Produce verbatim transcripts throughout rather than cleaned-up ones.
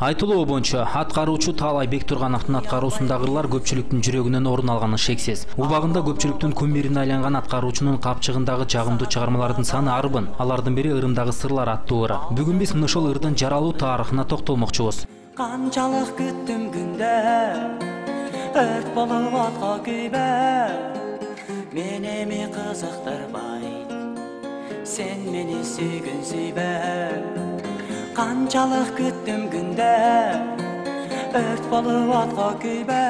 Айтылуу боюнча аткаруучу Таалай Бектургановдун аткаруусундагы ырлар көпчүлүктүн жүрөгүнөн орун алганы шексиз. Убагында көпчүлүктүн кумирине айланган аткаруучунун капчыгындагы жагымдуу чыгармалардын саны арбын. Алардын бири Ырымдагы сырлар аттуу ыры. Бүгүн биз мына ошол ырдын жаралуу тарыхына токтолмокчубуз. Канчалык күттүм күндө өрт болуп атка күйбө, мен эми кызыктырбай, сен мени сүйгүн сүйбө. Канчалык күттүм күндө өрт болуп атка күйбө.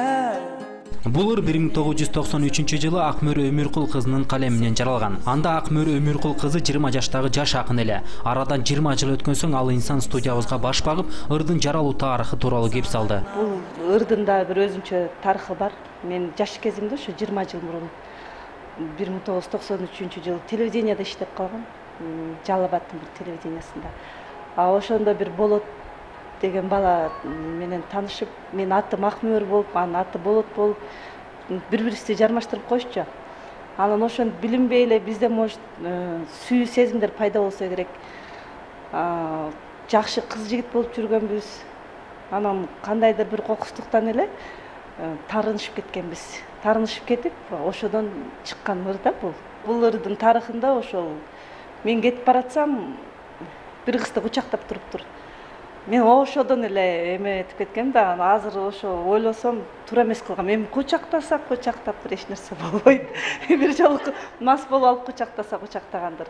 Бул ыр бир миң тогуз жүз токсон үчүнчү жылы Акмөр Өмүркул кызынын калеминен жаралган. Анда Акмөр Өмүркул кызы жыйырма жаштагы жаш акын эле. Арадан жыйырма жыл өткөн соң ал инсан студиябызга баш багып, ырдын жаралуу тарыхы тууралуу кеп салды. Бул ырдын да бир өзүнчө тарыхы бар. Мен жаш кезимде ушу жыйырма жыл мурун бир миң тогуз жүз токсон үчүнчү жылы телевиденияда иштеп калгам. Жалал Абадтын бир телевидениясында. А ошондо бир Болот деген бала менен таанышып, мен атым Акмөр болуп, анын аты Болот болуп, бири-бирибизди жармаштырып коюшчу. Анан ошону билинбей эле бизде может сүйүү сезимдер пайда болсо керек. Жакшы кыз жигит болуп жүргөнбүз. Анан кандайдыр бир кокустуктан эле тарынышып кеткенбиз. Тарынышып кетип, ошодон чыккан ыр да бул. Бул ырдын тарыхында ошол мен кетип баратсам бир кызды кучактап туруптур. Мен ошодон эле эметип кеткем да, азыр ошо ойлосом туура эмес кылгам. Эми кучактасак кучактап бир эч нерсе болбойт. Бир жолу мас болуп алып кучактаса кучактагандыр.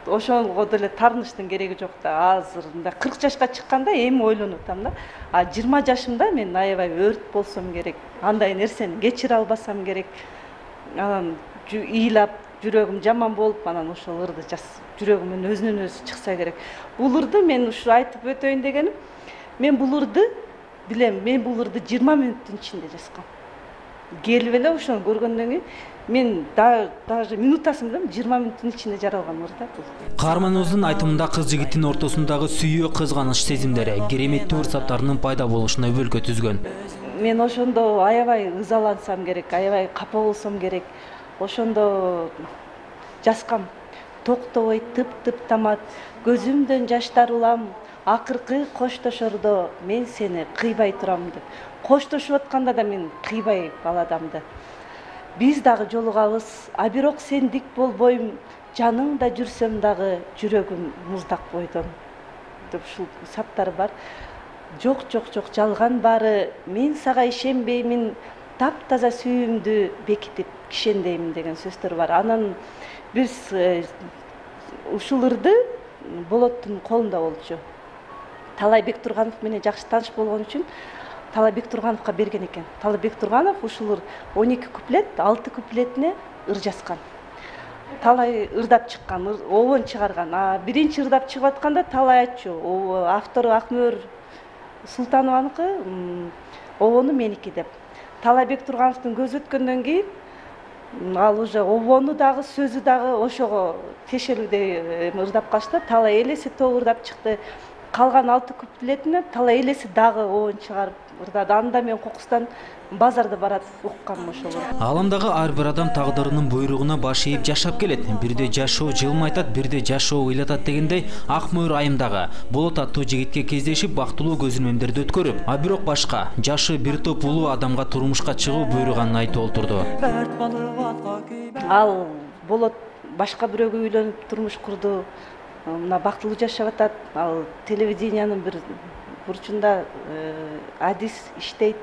Ошого деле тарыныштын кереги жок да. Азыр мындай кырк жашка чыкканда эми ойлонуп атам да. А жыйырма жашымда мен аябай өрт болсом керек. Андай нерсени кечире албасам керек. Анан ыйлап жүрөгүм жаман болуп, анан ошол ырды жаз жүрөгүмөн өзүнөн өзү чыкса керек. Бул ырды мен ушу айтып өтөйүн дегеним, мен бул ырды билем, мен бул ырды жыйырма мүнөттүн ичинде жазгам. Келип эле ошону көргөндөн кийин мен даже минутасын билем, жыйырма мүнөттүн ичинде жаралган ыр да бул. Каарманыбыздын айтымында кыз жигиттин ортосундагы сүйүү, кызганыч сезимдери, кереметтүү ыр саптарынын пайда болушуна өбөлкө түзгөн. Мен ошондо аябай ызалансам керек, аябай капа болсом керек. Ошондо жазгам. Токтобой тып-тып тамат, көзүмдөн жаштар улам, акыркы коштошордо мен сени кыйбай турам деп. Коштошуп атканда да мен кыйбай ал адамды. Биз дагы жолугабыз, а бирок сен дик болбойм, жаныңда жүрсөм дагы жүрөгүм муздак бойдон деп ушул саптар бар. Жок, жок, жок, жалган баары, мен сага ишенбеймин, таптаза сүйүүмдү бекитип кишендеймин деген сөздөр бар. Анан биз ушул ырды Болоттун колунда болчу. Таалай Бектурганов менен жакшы тааныш болгон үчүн Таалай Бектургановго берген экен. Таалай Бектурганов ушул ыр он эки куплет, алты куплетине ыр жазган. Таалай ырдап чыккан, обон чыгарган. А биринчи ырдап чыгып атканда Таалай айтчу, автору Акмөр Султанованыкы, обону меники деп. Таалай Бектургановдун көзү өткөндөн кийин ал уже обону дагы сөзү дагы ошого тиешелүүдөй ырдап калышты. Таалай элеси топ ырдап чыкты. Калган алты куплетине Таалай элеси дагы обон чыгарып ырдады. Анда мен кокустан базарда барат уккам ошол. Аламдагы ар бир адам тагдырынын буйругуна баш ийип жашап келет. Бирде жашоо жылмайтат, бирде жашоо ыйлатат дегендей, Акмөр айымдагы Болот аттуу жигитке кездешип бактылуу көзүрмөмдөрдү өткөрүп, а бирок башка жашы бир топ улуу адамга турмушка чыгуу буйруганын айтып олтурду. Ал Болот башка бирөөгө үйлөнүп турмуш курду. Мына бактылуу жашап атат. Ал телевидениянын бир бурчунда адис иштейт.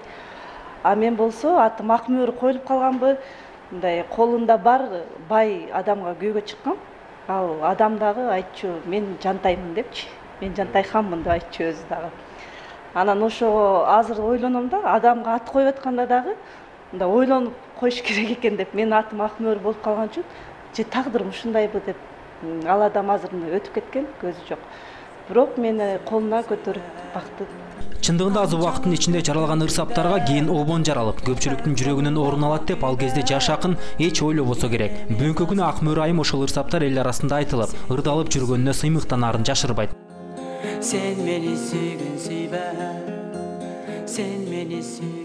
А мен болсо атым Акмөр коюлуп калганбы, мындай колунда бар бай адамга күйөөгө чыккам. Ал адам дагы айтчу, мен жантаймын депчи. Мен жантайханмын деп айтчу өзү дагы. Анан ошого азыр ойлоном да, адамга ат коюп атканда дагы мындай ойлонуп коюш керек экен деп. Мен атым Акмөр болуп калган үчүн, же тагдырым ушундайбы деп. Ал адам азыр өтүп кеткен, көзү жок. Бирок мени колуна көтөрүп бакты. Чындыгында аз убакыттын ичинде жаралган ыр саптарга кийин обон жаралып, көпчүлүктүн жүрөгүнөн орун алат деп ал кезде жаш акын эч ойлобосо керек. Бүгүнкү күнү Акмөр айым ошол ыр саптар эл арасында айтылып, ырдалып жүргөнүнө сыймыктанаарын жашырбайт. Сен мени сүйгүн сүйбө, сен мени сүй